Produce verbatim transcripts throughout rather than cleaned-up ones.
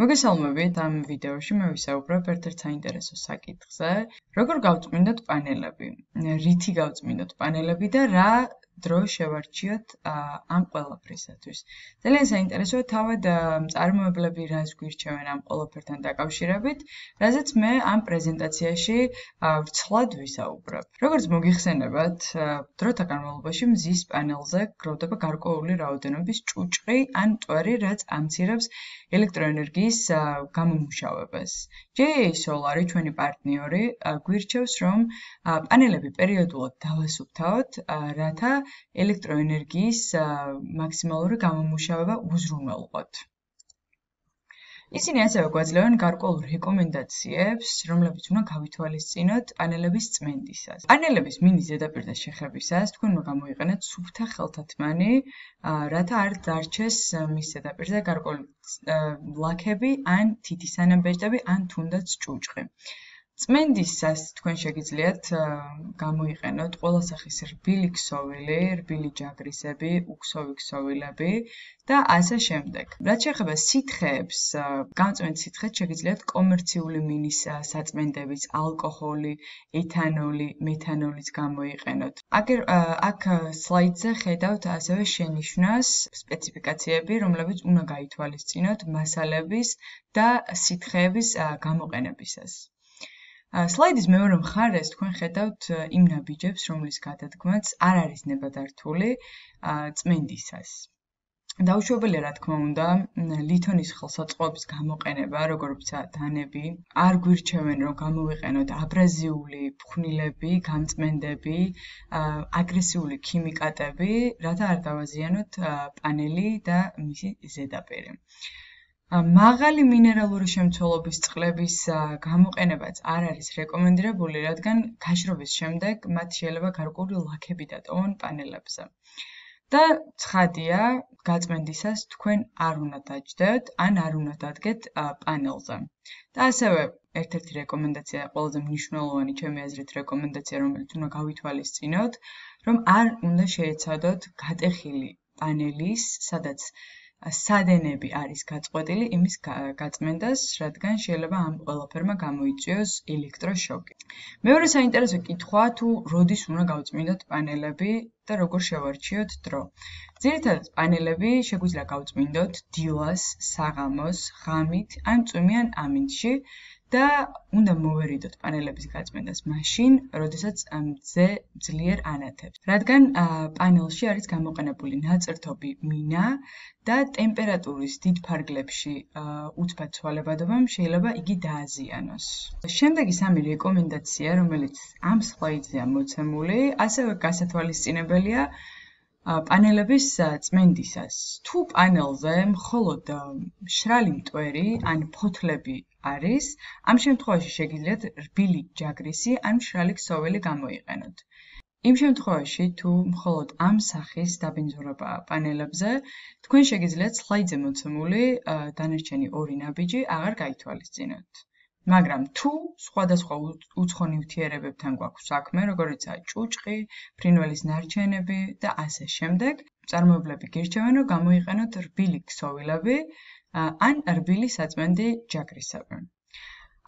მოგესალმებით ამ ვიდეოში მე ვისაუბრებ ერთ-ერთ საინტერესო საკითხზე, როგორ გავწმინდოთ პანელები, რითი გავწმინდოთ პანელები და რა დრო შევარჩიოთ ამ ყველაფრისათვის. ძალიან საინტერესოა თავად მწარმოებლები რას გვირჩევენ ამ ყველაფერთან დაკავშირებით, რაზეც მე ამ პრეზენტაციაში ვრცლად ვისაუბრებ. როგორც მოგიხსენებათ, დროთა განმავლობაში მზის პანელზე გროვდება გარკვეული რაოდენობის ჭუჭყი ან მტვერი, რაც ამცირებს ელექტროენერგიის გამომუშავებას. ჯეი ეი Solar, ჩვენი პარტნიორი, გვირჩევს, რომ პანელები პერიოდულად დავასუფთავოთ, რათა ელექტროენერგიის მაქსიმალური გამომუშავება უზრუნველყოთ. ისინი ასევე გვაძლევენ გარკვეულ რეკომენდაციებს, რომლებიც უნდა გავითვალისწინოთ პანელების წმენდისას. პანელების მინი ზედაპირზე შეხებისას თქვენ უნდა გამოიყენოთ სუფთა ხელთათმანი, რათა არ დარჩეს მის ზედაპირზე გარკვეული ლაქები ან თითისანაბეჭდები ან თუნდაც ჭუჭყი. წმენდისას თქვენ შეგიძლიათ გამოიყენოთ ყველა სახის რბილი ქსოვილი, რბილი ჯაგრისები, უქსოვი ქსოვილები და ასე შემდეგ. რაც შეეხება სითხეებს, გამწმენთ სითხეს შეგიძლიათ კომერციული მინის საწმენდების, ალკოჰოლი, ეთანოლი, მეთანოლიც გამოიყენოთ. აქ სლაიდზე ხედავთ ასევე შენიშვნას სპეციფიკაციები, რომლებიც უნდა გაითვალისწინოთ მასალების და სითხეების გამოყენებისას. სლაიდის მეორე მხარეს თქვენ ხედავთ იმ ნაბიჯებს, რომლის გადადგმაც არ არის ნებადართული წმენდისას. დაუშვებელია, რა თქმა უნდა, ლითონის ხელსაწყოების გამოყენება, როგორიც დანები, არ გვირჩევენ, რომ გამოვიყენოთ აბრაზიული ფხვნილები, გამწმენდები, აგრესიული ქიმიკატები, რათა არ დავაზიანოთ პანელი და მისი ზედაპირი. მაღალი მინერალური შემცველობის წყლების გამოყენებაც არ არის რეკომენდირებული, რადგან გაშრობის შემდეგ მათ შეიძლება გარკვეული ლაქები დატოვონ პანელებზე. და ცხადია, გაწმენდისას თქვენ არ უნდა დაჯდეთ, ან არ უნდა დადგეთ პანელზე. და ასევე ერთ-ერთი რეკომენდაცია, ყველაზე მნიშვნელოვანი ჩემი აზრით რეკომენდაცია, რომელიც უნდა გავითვალისწინოთ, რომ არ უნდა შეეცადოთ გატეხილი პანელის, სადაც სადენები არის გაწყვეტილი იმის გაწმენდას, რადგან შეიძლება ამ ყველაფერმა გამოიწვიოს ელექტროშოკი. მეორე საინტერესო კითხვაა, თუ როდის უნდა გავწმინდოთ პანელები და როგორ შევარჩიოთ დრო. ძირითადად პანელები შეგვიძლია გავწმინდოთ დილას, საღამოს, ღამით ან წვიმიან ამინდში და უნდა მოვერიდოთ პანელების გაწმენდას მაშინ, როდესაც მზე ძლიერ ანათებს. რადგან პანელში არის გამოყენებული ნაწერთობი მინა და ტემპერატურის დიდ ფარგლებში უცბად ცვალებადობამ შეიძლება იგი დააზიანოს. შემდეგი სამი რეკომენდაცია, რომელიც ამ სლაიდზეა მოცემული, ასევე გასათვალისწინებელია პანელების წმენდისას. თუ პანელზე მხოლოდ მშრალი მტვერი ან ფოთლები არის, ამ შემთხვევაში შეგიძლიათ რბილი ჯაგრისი ან მშრალი ქსოვილი გამოიყენოთ. იმ შემთხვევაში, თუ მხოლოდ ამ სახის დაბინძურებაა პანელებზე, თქვენ შეგიძლიათ სლაიდზე მოცემული დანარჩენი ორი ნაბიჯი აღარ გაითვალისწინოთ. მაგრამ თუ სხვადასხვა უცხო ნივთიერებებთან გვაქვს საქმე, როგორიცაა ჭუჭყი, ფრინველის ნარჩენები და ასე შემდეგ, მწარმოებლები გირჩევენ, რომ გამოიყენოთ რბილი ქსოვილები ან რბილი საწმენდი ჯაგრისები.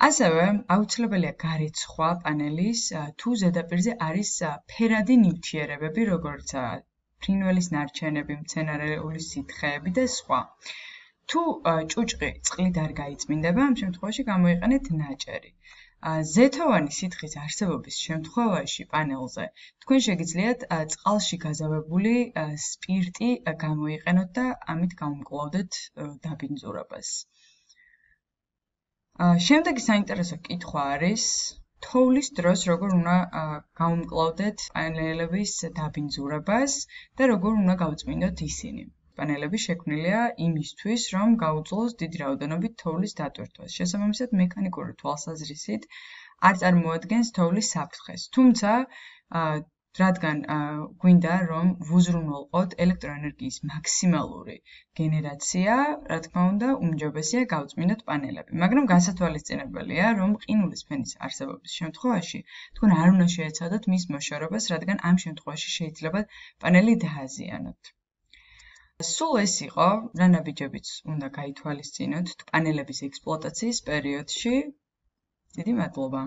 ასევე აუცილებელია გარიცხვა პანელის, თუ ზედაპირზე არის ფერადი ნივთიერებები, როგორიცაა ფრინველის ნარჩენები, მცენარეული სითხეები და სხვა. თუ ჭუჭყი წყლით არ გაიწმინდება, ამ შემთხვევაში გამოიყენეთ ნაჭერი. ზეთოვანი სითხის არსებობის შემთხვევაში პანელზე თქვენ შეგიძლიათ წყალში გაზავებული სპირტი გამოიყენოთ და ამით გამომკლავდეთ დაბინძურებას. შემდეგი საინტერესო კითხვა არის, თოვლის დროს როგორ უნდა გავუმკლავდეთ პანელების დაბინძურებას და როგორ უნდა გავწმინდოთ ისინი. პანელები შექმნილია იმისთვის, რომ გაუძლოს დიდი რაოდენობით თოვლის დატვირთვას. შესაბამისად, მექანიკური თვალსაზრისით არ წარმოადგენს თოვლის საფრთხეს. თუმცა, რადგან გვინდა, რომ ვუზრუნველყოთ ელექტროენერგიის მაქსიმალური გენერაცია, რა თქმა უნდა, უმჯობესია გავწმინდოთ პანელები. მაგრამ გასათვალისწინებელია, რომ ყინულის ფენის არსებობის შემთხვევაში თქვენ არ უნდა შეეცადოთ მის მოშორებას, რადგან ამ შემთხვევაში შეიძლება პანელი დააზიანოთ. სულ ეს იყო, რა ნაბიჯებიც უნდა გაითვალისწინოთ პანელების ექსპლუატაციის პერიოდში. დიდი მადლობა.